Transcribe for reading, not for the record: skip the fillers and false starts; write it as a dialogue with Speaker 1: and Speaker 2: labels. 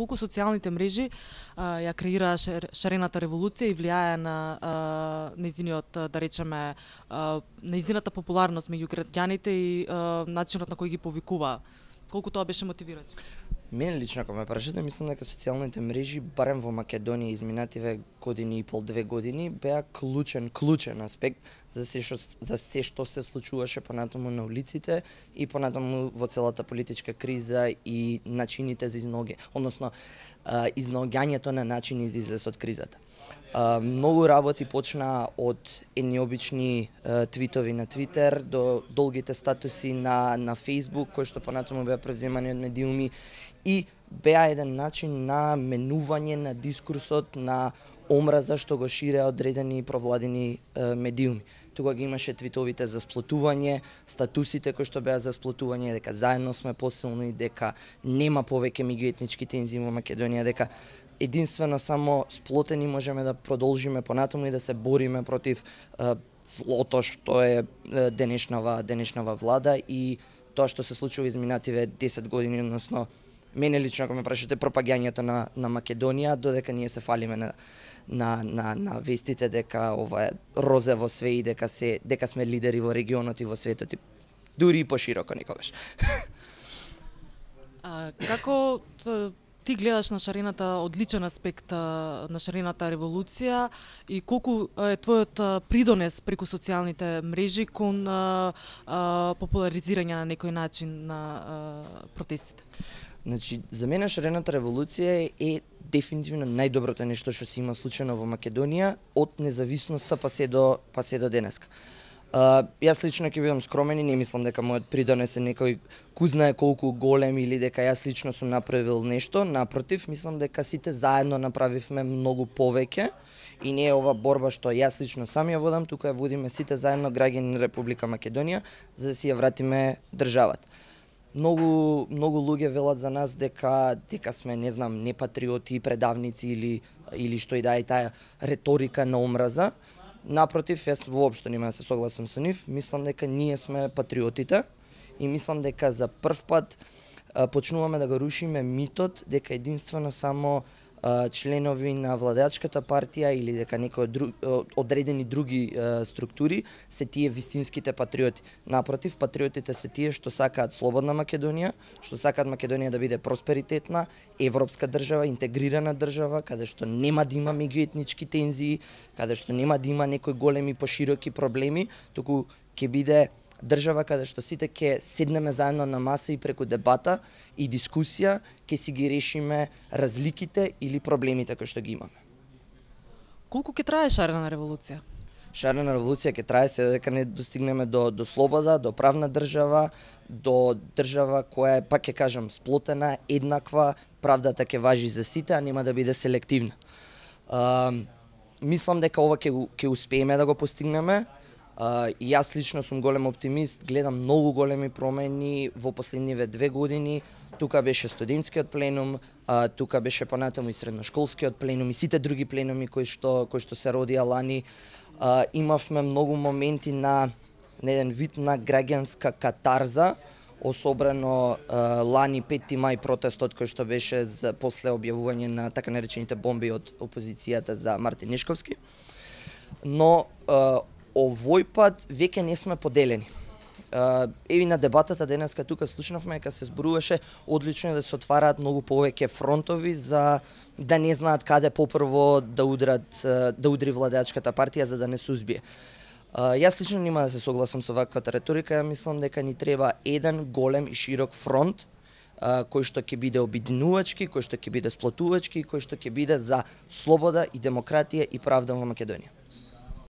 Speaker 1: колку социјалните мрежи ја креираа шарената револуција и влијае на нејзиниот, да речеме, нејзината популарност меѓу граѓаните и начинот на кој ги повикуваа. Колку тоа беше мотивиращо?
Speaker 2: Мене лично, ако ме прашате, мислам дека социјалните мрежи, барем во Македонија изминативе години и пол, 2 години, беа клучен аспект за се што се случуваше понатаму на улиците и понатаму во целата политичка криза и начините за изнаоѓањето на начини за излез од кризата. Многу работи почна од едни обични твитови на Твитер до долгите статуси на Фейсбук, кои што понатаму беа превземани од медиуми и беа еден начин на менување на дискурсот на омраза што го ширеа одредени провладени медиуми. Тука ги имаше твитовите за сплотување, статусите кои што беа за сплотување, дека заедно сме посилни, дека нема повеќе меѓуетнички тензии во Македонија, дека единствено само сплотени можеме да продолжиме понатаму и да се бориме против злото што е денешнава влада и тоа што се случува изминативе 10 години, односно мене лично, ако ме прашате, пропагањето на Македонија, додека ние се фалиме на вестите дека ова е розево све и дека сме лидери во регионот и во светот, и дури и пошироко некогаш.
Speaker 1: Како ти гледаш на шарената, одличен аспект на шарената револуција и колку е твојот придонес преку социјалните мрежи кон популаризирање на некој начин на протестите?
Speaker 2: Значи, за мене шарената револуција е дефинитивно најдоброто нешто што се има случено во Македонија од независноста па се до денеска. Јас лично ќе бидам скромен и не мислам дека мојот придонес е некој ку знае колку голем или дека јас лично сум направил нешто. Напротив, мислам дека сите заедно направивме многу повеќе и не е ова борба што јас лично сам ја водам, тука ја водиме сите заедно граѓани на Република Македонија за да си ја вратиме државата. Многу луѓе велат за нас дека сме, не знам, непатриоти, предавници или што и да е таа реторика на омраза. Напротив, јас воопшто нема да се согласам со нив. Мислам дека ние сме патриотите и мислам дека за прв пат почнуваме да го рушиме митот дека единствено само членови на владеачката партија или дека некои одредени други структури се тие вистинските патриоти. Напротив, патриотите се тие што сакаат слободна Македонија, што сакаат Македонија да биде просперитетна, европска држава, интегрирана држава, каде што нема да има меѓуетнички тензии, каде што нема да има некои големи пошироки проблеми, туку ќе биде држава каде што сите ќе седнеме заедно на маса и преку дебата и дискусија ќе си ги решиме разликите или проблемите кои што ги имаме.
Speaker 1: Колку ќе трае шарена револуција?
Speaker 2: Шарена револуција ќе трае се дека не достигнеме до слобода, до правна држава, до држава која е, пак ќе кажам, сплотена, еднаква, правдата ќе важи за сите, а нема да биде селективна. Мислам дека ова ќе успееме да го постигнеме. И јас лично сум голем оптимист, гледам многу големи промени во последниве 2 години. Тука беше студентскиот пленум, тука беше понатаму и средношколскиот пленум и сите други пленуми кои што се родија лани. Имавме многу моменти на еден вид на граѓанска катарза, особено лани 5 мај протестот кој што беше после објавување на така наречените бомби од опозицијата за Мартин Нешковски. Но овој пат веќе не сме поделени. Еви на дебатата денеска тука слушнавме дека се зборуваше одлично да се отвараат многу повеќе фронтови за да не знаат каде попрво да удри владеачката партија за да не се узбие. Јас лично нема да се согласам со ваквата реторика, ја мислам дека ни треба еден голем и широк фронт кој што ќе биде обединувачки, кој што ќе биде сплотувачки, кој што ќе биде за слобода и демократија и правда во Македонија.